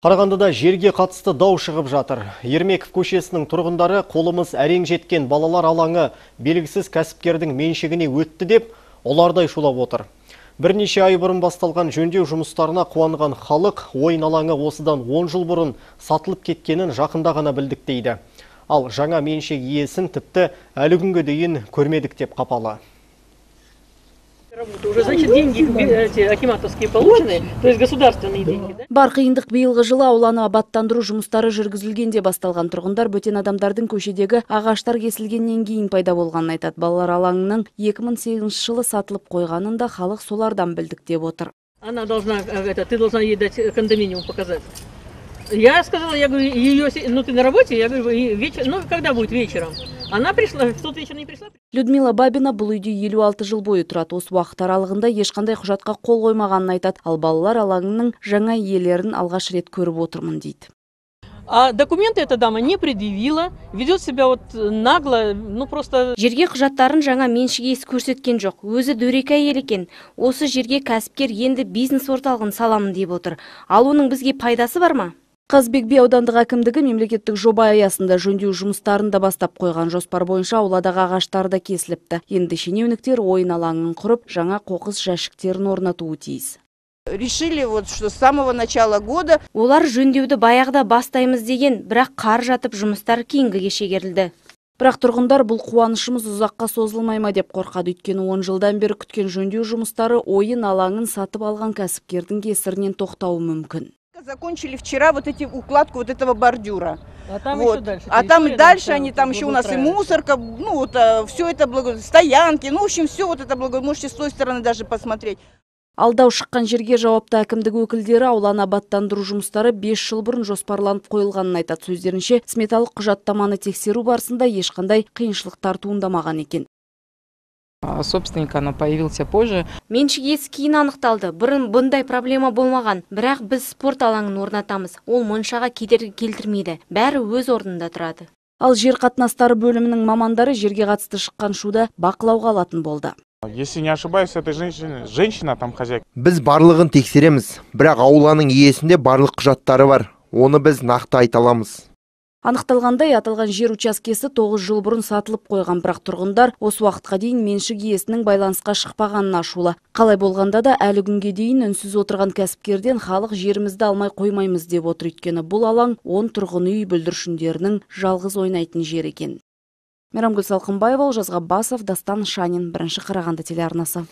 Қарағандыда жерге қатысты дау шығып жатыр. Ермеков көшесінің тұрғындары қолымыз әрең жеткен балалар алаңы белгісіз кәсіпкердің меншігіне өтті деп, олардай шулап отыр. Бірнеше ай бұрын басталған жөндеу жұмыстарына қуанған халық ойын алаңы осыдан 10 жыл бұрын сатылып кеткенін жақында ғана білдік дейді. Ал жаңа меншік иесін тіпті әлі күнге дейін көрмедік деп қапалы. Уже, значит, деньги акиматовские получены, то есть государственные деньги, да? Бар қиындық биылғы жылы ауланы абаттандыру жұмыстары жүргізілгенде басталған. Тұрғындар бөтен адамдардың көшедегі ағаштар кесілгеннен кейін пайда болғанын айтады. Балалар алаңының 2008 жылы сатылып қойғанын да халық солардан білдік деп отыр. Она должна, ты должна ей дать кондоминиум показать. Я сказала, я говорю, ну ты на работе, я говорю, ну когда будет вечером? Она пришла, в тот вечер не пришла. Людмила Бабина бұл үйде 56 жыл бойы тұрады. Осы уақыт аралығында ешқандай құжатқа қол қоймағанын айтады. Ал балалар алаңының жаңа иелерін алғаш рет көріп отырмын дейді. А документы эта дама не предъявила, ведет себя вот нагло, ну просто... Жерге құжаттарын жаңа меншік иесі көрсеткен жоқ. Өзі дөрекі әйел екен. Осы жерге кәсіпкер енді бизнес орталығын саламын деп отыр. Ал оның бізге пайдасы бар ма? Қазбек би аудандық әкімдігі мемлекеттік жоба аясында жөндеу жұмыстарын да бастап қойған. Жоспар бойынша ауладағы ағаштар да кесіліпті. Енді шенеуніктер ойын алаңын құрып, жаңа қоқыс жәшіктерін орнатуы тиіс. Решили вот, что с самого начала года... Олар жөндеуді баяғыда бастаймыз деген, бірақ қар жатып жұмыстар кейінгіге шегерілді. Бірақ тұрғындар бұл қуанышымыз ұзаққа созылмай ма деп қорқады. Өйткені 10 жылдан бері күткен жөндеу жұмыстары ойын алаңын сатып алған кәсіпкердің кесірінен тоқтауы мүмкін. Закончили вчера вот эти укладку вот этого бордюра. А там вот. еще дальше. А там и дальше они, там еще у нас и мусорка, ну вот все это стоянки, ну в общем все вот это можете с той стороны даже посмотреть. Алдау шыққан жерге жауапты әкімдік өкілдері ауланы абаттандыру жұмыстары 5 жыл бұрын жоспарланып қойылғанын айтады. Сөздерінше, сметалық құжаттаманы тексеру барысында ешқандай қиыншылықтар туындамаған екен. Собственник оно появился позже. Меншік иесі кейін анықталды. Бұрын бұндай проблема болмаған. Бірақ біз спорт алаңын орнатамыз. Ол моншаға кедергі келтірмейді. Бәрі өз орнында тұрады. Ал жер қатынастары бөлімінің мамандары жерге қатысты шыққан шуды бақылауға алатын болды. Если не ошибаюсь, это женщина там хозяйка. Біз барлығын тексереміз, бірақ ауланың иесінде барлық құжаттары бар. Оны біз нақты айта аламыз. Анықталғандай, аталған жер учаскесі 9 жыл бұрын сатылып қойған, бірақ тұрғындар осы уақытқа дейін меншік иесінің байланысқа шықпағанын ашулы. Қалай болғанда да әлі күнге дейін үнсіз отырған кәсіпкерден халық жерімізді алмай қоймаймыз деп отыр. Өйткені бұл алаң 10 тұрғын үй бүлдіршіндерінің жалғыз ойнайтын жер екен. Мейрамгүл Салқынбаева, Олжас Ғаббасов, Дастан Шанин, Бірінші Қарағанды телеарнасы.